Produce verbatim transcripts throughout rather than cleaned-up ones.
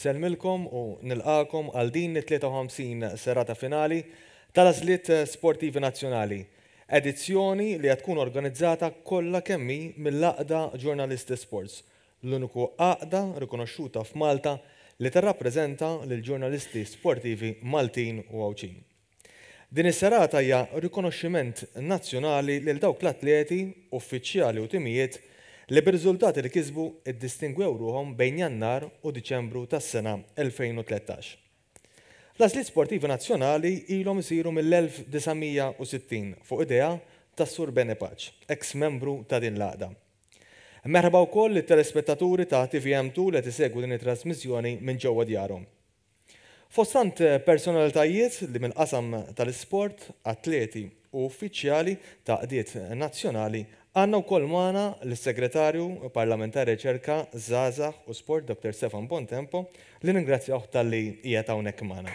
Insellmilkom u nilqagħkom għal din it-tlieta u ħamsin serata finali tal-Għażliet Sportivi Nazzjonali, edizzjoni li qed tkun organizzata kollha kemm hi mill-Għaqda Ġurnalisti Sports, l-uniku għaqda rikonoxxuta f'Malta li tirrappreżenta lill-ġurnalisti sportivi Maltin u Għawdxin. Din is-serata hija rikonoxximent nazzjonali lil dawk l-atleti, uffiċjali u timijiet li bir-riżultati li kisbu iddistingwew ruħhom bejn Jannar u Diċembru tas-sena elfejn u tlettax. L-Għażliet Sportivi Nazzjonali ilhom isiru mill-elf disa' mija u sittin fuq idea tas-Sur Bene Pace, ex-membru ta' din l-għaqda. Merħba wkoll lit-telespettaturi ta' T V M two li qed isegwu din it-trasmissjoni minn ġewwa djarhom. Fost tant personalitajiet li mill-qasam tal-isport, atleti u uffiċjali ta' għaqdiet nazzjonali, għandna wkoll magħna lis-Segretarju Parlamentari Riċerka, Żgħażagħ u Sport Doktor Stefan Bontempo, li ningrazzjawh talli qiegħed hawnhekk magħna.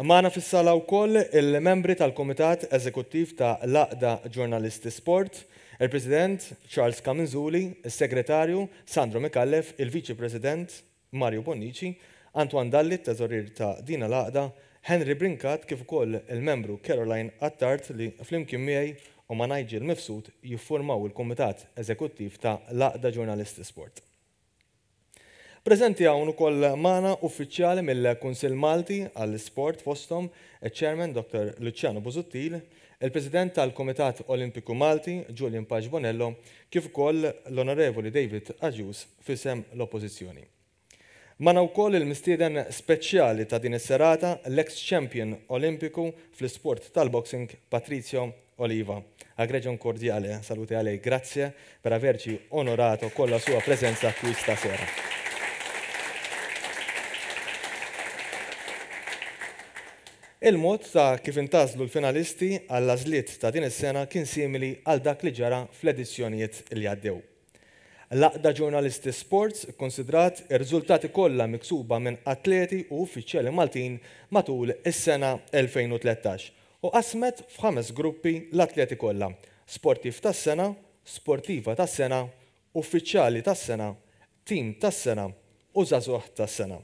Magħna fis-sala wkoll il-membri tal-Kumitat Eżekuttiv ta' l-Għaqda Ġurnalisti Sport, il-President Charles Camenzuli, il-Segretarju Sandro Micallef, il-Viċi President Mario Bonnici, Antoine Dalli, teżorier ta' din l-għaqda, Henry Brincat, kif ukoll il-membru Caroline Attard li flimkien miegħi u ma' Nigel Mifsud jiffurmaw il-Kumitat Eżekuttiv ta' l-Għaqda Ġurnalisti Sport. Preżenti hawn ukoll magħna uffiċjali mill-Kunsill Malti għall-Isport fosthom il-Chairman Doktor Luciano Busuttil, il-President tal-Kumitat Olimpiku Malti Julian Pace Bonello, kif ukoll l-Onorevoli David Agius fisem l-Oppożizzjoni. Magħna wkoll il-mistieden speċjali ta' din is-serata, l-ex-champion Olimpiku fl-isport tal-boxing Patrizio Oliva. Aggregio un cordiale salute a lei, grazie per averci onorato con la sua presenza qui stasera. Il-mod ta' kif intażlu l-finalisti għall-għażliet ta' din is-sena kien simili għal dak li ġara fl-edizzjonijiet li għaddew. L-Għaqda Ġurnalisti Sports ikkonsidrat ir-riżultati kollha miksuba minn atleti u uffiċjali Maltin matul is-sena elfejn u tlettax u qasmet f'ħames gruppi l-atleti kollha: sportiv tas-sena, sportiva tas-sena, uffiċjali tas-sena, tim tas-sena u żagħżugħ tas-sena.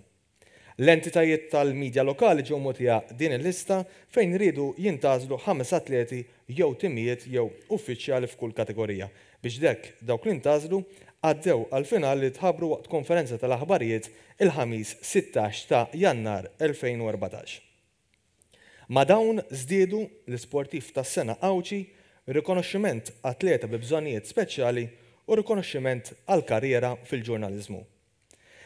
L-entitajiet tal-medja lokali ġew mogħtija din il-lista fejn riedu jintgħażlu ħames atleti jew timijiet jew uffiċjali f'kull kategorija biex dek dawk li ntgħażlu għaddew għall-finali li tħabbru waqt konferenza tal-aħbarijiet il-ħamis sittax ta' Jannar elfejn u erbatax. Ma' dawn żdiedu l-isportiv tas-sena Għawdxi, rikonoxximent atleta bi bżonnijiet speċjali u rikonoxximent għal karriera fil-ġurnaliżmu.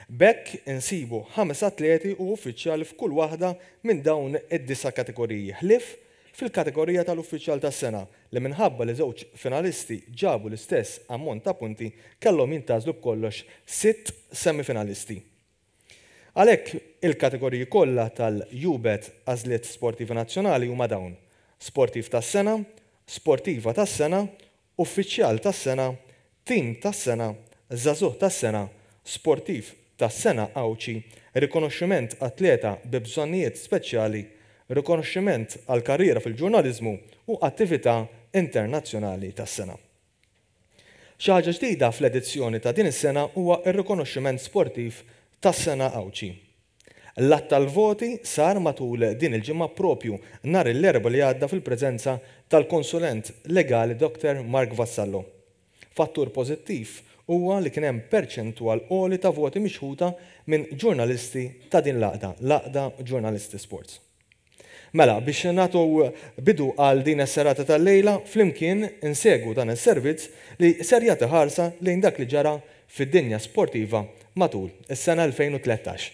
B'hekk insibu ħames atleti u uffiċjali f'kull waħda minn dawn id-disa' kategoriji, ħlief fil-kategorija tal-uffiċjal tas-sena li minħabba li żewġ finalisti ġabu l-istess ammont ta' punti kellhom jintgħażlu b'kollox sitt semifinalisti. Għalhekk il-kategoriji kollha tal-U B E T Għażliet Sportivi Nazzjonali huma dawn: sportiv tas-sena, sportiva tas-sena, uffiċjal tas-sena, tim tas-sena, żagħżugħ tas-sena, sportiv tas-sena Għawdxi, rikonoxximent atleta bi bżonnijiet speċjali, rikonoxximent għal karriera fil-ġurnaliżmu u attività internazzjonali tas-sena. Xi ħaġa ġdida fl-edizzjoni ta' din is-sena huwa r-rikonoxximent sportiv tas-sena Għawdxi. L-att tal-voti sar matul din il-ġimgħa propju nhar l-Erbgħa li għadda fil-preżenza tal-konsulent legali Doktor Mark Vassallo. Fattur pożittiv huwa li kien hemm perċentwal għoli ta' voti mixħuta minn ġurnalisti ta' din l-għaqda, l-Għaqda Ġurnalisti Sports. Mela, biex nagħtu bidu għal din is-serata tal-lejla, flimkien insegwu dan is-servizz li ser jagħti ħarsa lejn dak li ġara fid-dinja sportiva matul is-sena elfejn u tlettax.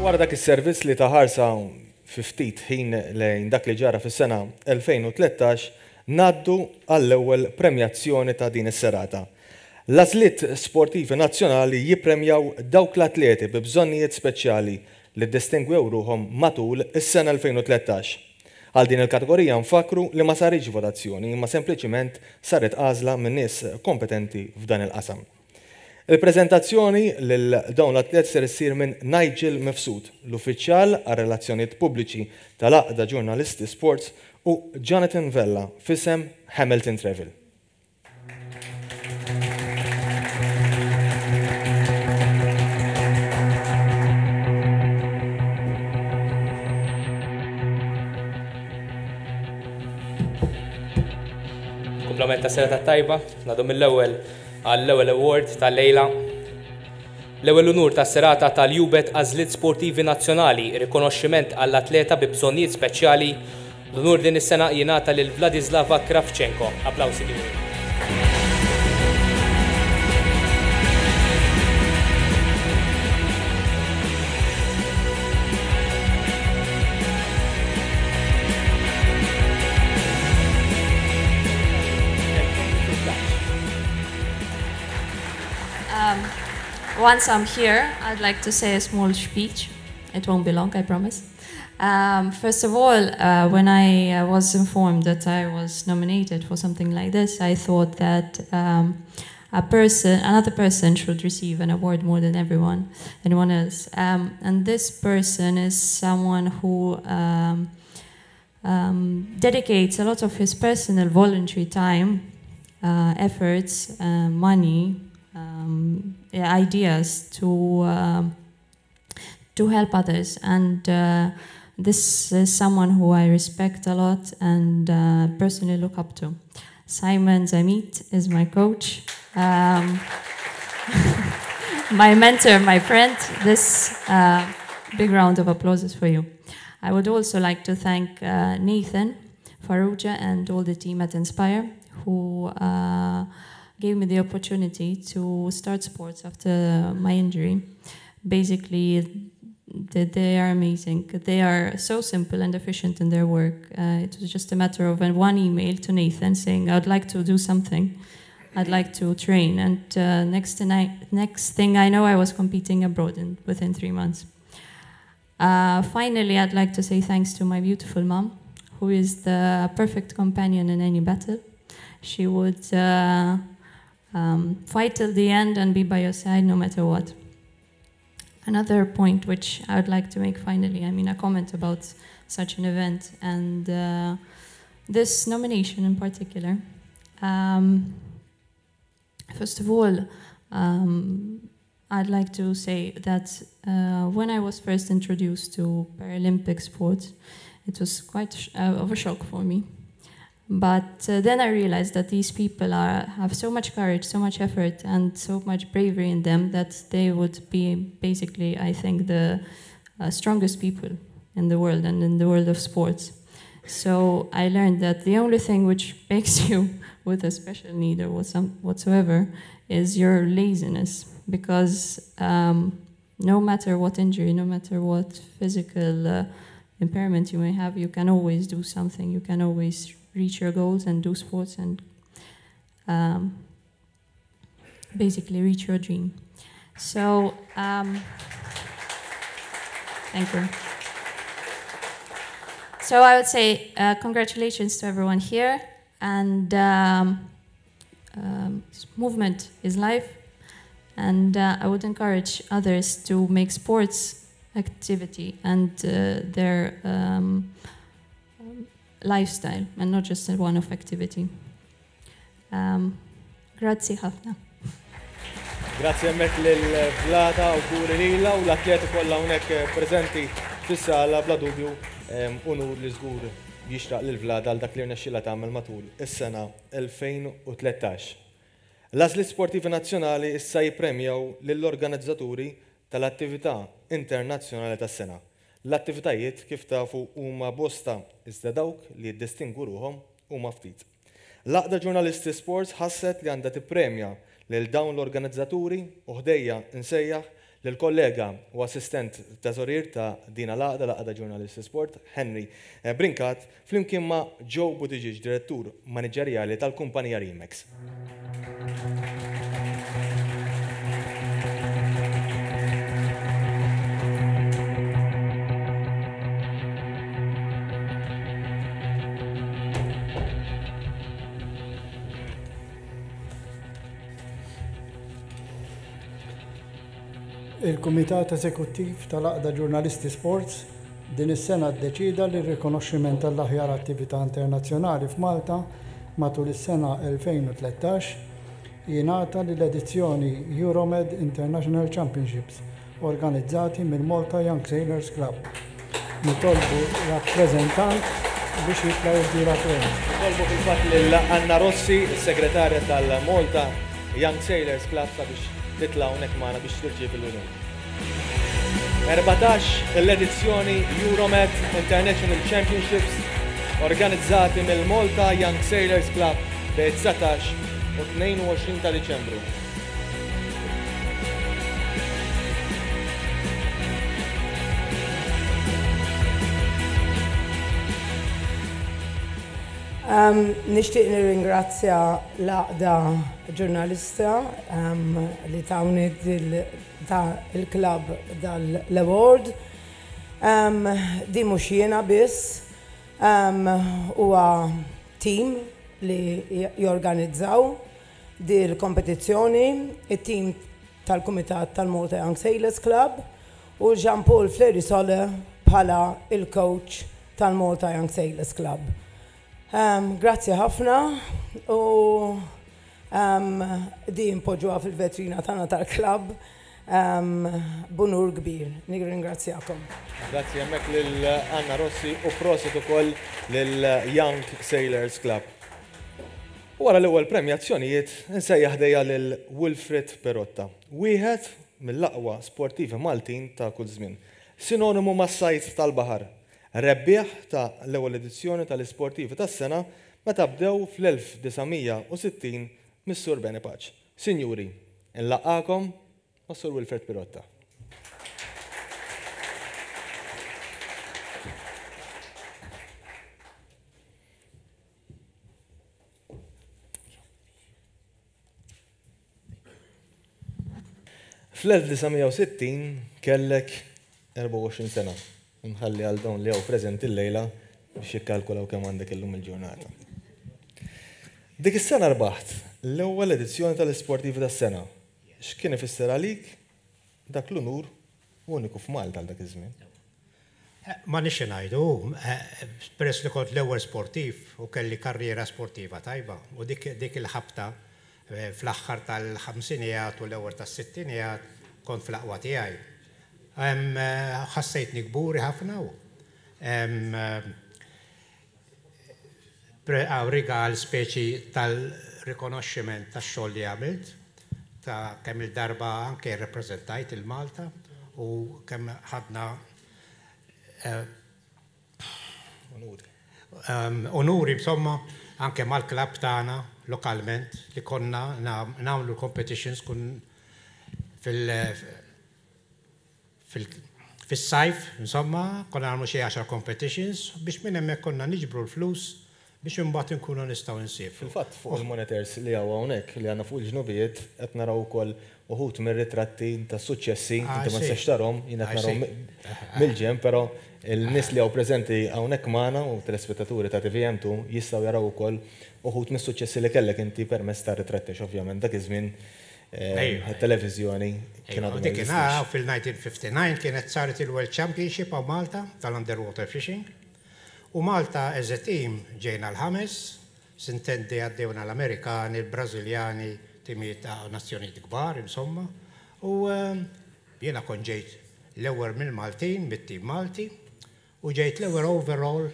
Wara dak is-servizz li ta ħarsa fi ftit ħin lejn dak li ġara fis-sena elfejn u tlettax, ngħaddu għall-ewwel premjazzjoni ta' din is-serata. L-Għażliet Sportivi Nazzjonali jippremjaw dawk l-atleti bi bżonnijiet speċjali li distingwew ruħhom matul is-sena elfejn u tlettax. Għal din il-kategorija nfakru li ma saritx votazzjoni, imma sempliċiment saret għażla minn nies kompetenti f'dan il-qasam. Il-prezentazzjoni lil dawn l-atlet ser issir minn Nigel Mifsud, l-uffiċjal għal relazzjonijiet pubbliċi tal-Għaqda Ġurnalisti Sports, u Jonathan Vella f'isem Hamilton Travel. Kumplament ta' serata tajba, ngħaddu mill-ewwel għall-ewwel award tal-lejla. L-ewwel unur ta' serata tal-U B E T Għażliet Sportivi Nazzjonali, rikonoxximent għall-atleta bi bżonnijiet speċjali. L-unur din is-sena jingħata lil Vladislava Kravchenko. Applawsi kbir. Um, once I'm here, I'd like to say a small speech. It won't be long, I promise. Um, first of all, uh, when I uh, was informed that I was nominated for something like this, I thought that um, a person, another person should receive an award more than everyone, anyone else. Um, and this person is someone who um, um, dedicates a lot of his personal voluntary time, uh, efforts, uh, money, um, yeah, ideas to um, to help others. And uh, this is someone who I respect a lot and uh, personally look up to. Simon Zammit is my coach, um, my mentor, my friend. This uh, big round of applause is for you. I would also like to thank uh, Nathan Farrugia and all the team at Inspire who uh, gave me the opportunity to start sports after my injury. Basically, they, they are amazing. They are so simple and efficient in their work. Uh, it was just a matter of one email to Nathan saying, "I'd like to do something. I'd like to train." And uh, next, next thing I know, I was competing abroad in, within three months. Uh, finally, I'd like to say thanks to my beautiful mom, who is the perfect companion in any battle. She would uh, um, fight till the end and be by your side no matter what. Another point which I would like to make finally, I mean, a comment about such an event and uh, this nomination in particular. Um, first of all, um, I'd like to say that uh, when I was first introduced to Paralympic sports, it was quite sh uh, of a shock for me. But uh, then I realized that these people are, have so much courage, so much effort, and so much bravery in them that they would be basically, I think, the uh, strongest people in the world and in the world of sports. So I learned that the only thing which makes you with a special need or whatsoever is your laziness, because um, no matter what injury, no matter what physical uh, impairment you may have, you can always do something. You can always reach your goals and do sports and um, basically reach your dream. So, um, thank you. So I would say uh, congratulations to everyone here, and um, um, movement is life, and uh, I would encourage others to make sports activity and uh, their um, lifestyle and not just a one-off activity. Um, grazzi ħafna. Grazzi hemmhekk lil Vlada u kuri lila u l-atleti kollha hawnhekk preżenti fis-sala. Bla dubju unur li żgur jixraq lil Vlada għal dak li rnexxilha tagħmel matul is-sena elfejn u tlettax. L-Għażliet Sportivi Nazzjonali issa jippremjaw lill-organizzaturi tal-attività internazzjonali tas-sena. L-attivitajiet, kif tafu, huma bosta, iżda dawk li jiddistingu ruħhom huma ftit. L-Għaqda Ġurnalisti Sports ħasset li għandha tippremja lil dawn l-organizzaturi u ħdejja nsejjaħ lill-kollega u assistent teżorier ta' din l-għaqda, l-Għaqda Ġurnalisti Sport, Henry Brincat, flimkien ma' Joe Buttigieg, direttur maniġerjali tal-kumpanija Remax. Il-Kumitat Eżekuttiv tal-Għaqda Ġurnalisti Sports din is-sena ddeċida li r-rikonoxximent tal-aħjar attività internazzjonali f'Malta matul is-sena elfejn u tlettax jingħata lill-edizzjoni Euromed International Championships organizzati mill-Malta Young Sailors Club. Nitolbu rappreżentant biex jitla' jirtira premju. Nitolbu fil-fatt lil Anna Rossi, is-segretarja tal-Malta Young Sailors Club, sabiex titla' hawnhekk magħna biex tirċievi l-unur. Erbatax l-edizzjoni Euromed International Championships organizzati mill-Malta Young Sailors Club bejn dsatax u tnejn u għoxrin ta' Diċembru. Um, nixtieq nirringrazzja l-Għaqda Ġurnalista, um, li tawni ta' il-klabb dal-award. Um, di mhux jiena biss, um, huwa team li jorganizzaw di l-kompetizzjoni, it-team tal-Kumitat tal-Malta Young Sailors Club u Jean-Paul Fleri Sole bħala il-coach tal-Malta Young Sailors Club. Um, grazzi ħafna u, um, di npoġġuha fil-vetrina tagħna tal-klabb, um, b'unur kbir. Nirringrazzjakom. Grazzi hemmhekk lil Anna Rossi u prosit ukoll lil Young Sailors Club. U wara l-ewwel premjazzjonijiet insejjaħ ħdejja lil Wilfred Perotta, wieħed mill-aqwa sportivi Maltin ta' kull żmien, sinonimu mas-sajt tal-baħar, rebbieħ ta' l-ewwel edizzjoni tal-isportivi tas-sena meta bdew fl-elf disa' mija u sittin mis-Sur Benny Pace. Sinjuri, nlaqgħakom mas-Sur Wilfred Pirotta. Fl-elf disa' mija u sittin kellek erbgħa u għoxrin sena. Nħalli għal dawn li hawn preżenti llejla biex jikkalkulaw kemm għandek illum il-ġurnata. Dik is-sena rbaħt l-ewwel edizzjoni tal-isportivi tas-sena. X'kien ifisser għalik dak l-unur uniku f'Malta għal dak iż-żmien? Ma nixi ngħidu, peress li kont l-ewwel sportiv u kelli karriera sportiva tajba u dik, dik il-ħabta fl-aħħar tal-ħamsinijat u l-ewwel tas-sittinijat kont fl-aqwa tiegħi. Ħassejtni kburi ħafna u rigal speċi tal-rikonoxximent tax-xogħol li għamilt, ta' kemm il-darba anke rrepreżentajt il-Malta u kemm ħadna Onuri. Onuri, insomma, anke mal-klabb tagħna lokalment li konna nagħmlu competitions kun fil-sajf, insomma, konna nagħmlu xi għaxar competitions biex minn hemmhekk konna niġbru l-flus biex imbagħad inkunu nistgħu nsifru. Fil-fatt fuq il-monitors li hawn hawnhekk li għandna fuq il-ġnubijiet qed naraw ukoll uħud mir-ritratti ta' suċċessi, Ah, inti ma sì. tistax tarhom, jien qed Ah, narahom sì. mill-ġenb, però il-nies li hawn preżenti hawnhekk magħna u telespettaturi ta' T V M two jistgħu jaraw ukoll uħud mis-suċċessi li kellek inti permezz ta' ritratti, ovvjament dak iż-żmien Ejwa. it-televiżjoni kien għadu ma Dik jeżistix. kien fil-nineteen fifty-nine kienet saret il-World Championship għaw Malta tal-Underwater Fishing. U Malta as a team ġejna l-ħames, sintendi għaddewna l-Amerikani, l-Brażiljani, timijiet ta' nazzjonijiet kbar, insomma. U, ehm, jiena kont ġejt l-ewwel mill-Maltin, mit-tim Malti, u ġejt l-ewwel overall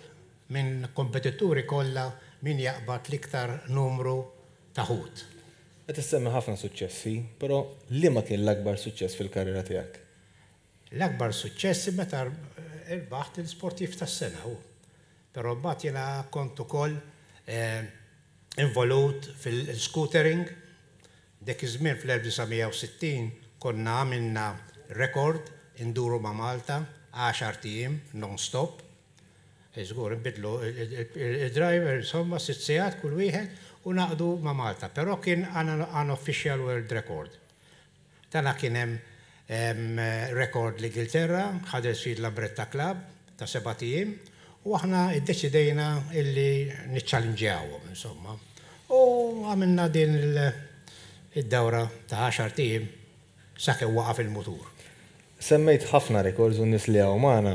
minn kompetituri kollha min jaqbad l-iktar numru ta' ħut. Qed issemmi ħafna suċċessi, però liema kien l-akbar suċċess fil-karriera tiegħek? L-akbar suċċessi meta rbaħt il-sportiv tas-sena hu. Però mbagħad jiena kont ukoll, eh, involut fil-scootering. Dak iż-żmien fl-elf disa' mija u sittin konna għamilna Rekord induru ma' Malta għaxart ijiem non-stop. Żgur, nbidlu il-driver, insomma, sitt sigħat kull wieħed u naqdu ma' Malta. Però kien unofficial world record. Tana kien hemm rekord l-Ingilterra, Huddersfield Lambretta Club ta' sebat ijiem, u aħna iddeċidejna illi niċċallinġjawhom, insomma. U għamilna din id-dawra ta' għaxart ijiem sakemm waqaf il-mutur. Semmejt ħafna records u nies li hawn magħna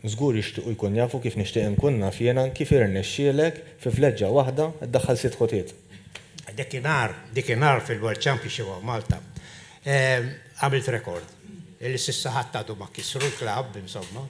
żgur jixtiequ jkun jafu, kif nixtieq inkun naf jiena, kif irnexxielek fi vleġġa waħda ddaħħal sitt ħotiet. Dakinhar, dakinhar fil-World Championship of Malta, għamilt rekord. Illi s'issa ħadd għadu ma kisru l-klabb, insomma.